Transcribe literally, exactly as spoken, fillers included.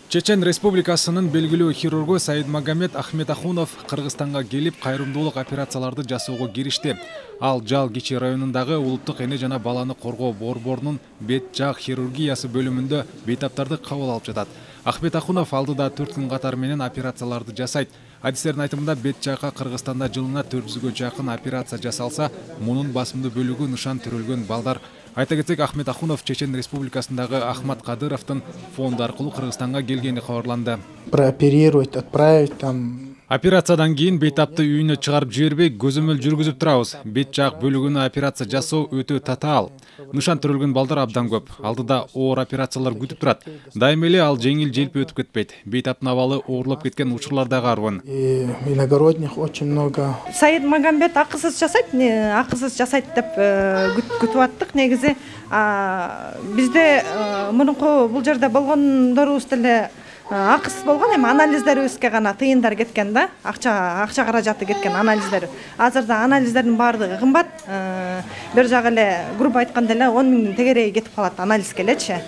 Чечен Республикасынын белгилүү хирургу Саидмагамед Ахметахунов Кыргызстанга келип кайрымдуулук операцияларды жасоого киришти. Ал Жал Кичи районундагы улуттук эне жана баланы коргоо борборунун бет жак хирургиясы бөлүмүндө бейтаптарды кабыл алып жатат. Ахметахунов алдыда төрт күн катары менен операцияларды жасайт. Адистердин айтымында бет жакка Кыргызстанда жылына төрт жүзгө жакын операция жасалса, мунун басымдуу бөлүгү нышан төрөлгөн балдар. Айта кетсек, Ахметахунов Чечен Республикасындагы Ахмат Кадыровдун фонду аркылуу Кыргызстанга келгени кабарланды. Прооперировать, отправить там. Операциядан кийин бейтапты үйүнө чыгарып жибербей көзөмөл жүргүзүп турабыз. Бет жак бөлүгүнө операция жасоо өтө татаал. Нышан төрөлгөн балдар абдан көп. Алдыда оор операциялар күтүп турат. Дайыма эле ал жеңил желпи өтүп кетпейт. Бейтаптын абалы оорлоп кеткен учурлар да карбын. Иногородних очень много. Саидмагамед акысыз жасайт, акысыз жасайт деп күтүп аттык. Негизи бизде мурунку бул жерде болгондорубуз деле акысыз болгон, эми анализдерибизге гана тыйындар кеткен да, акча акча каражаты кеткен анализдер. Азырда анализдердин баардыгы кымбат. Бир жагы эле грубо айтканда эле он миңдин тегереги кетип калат анализге элечи.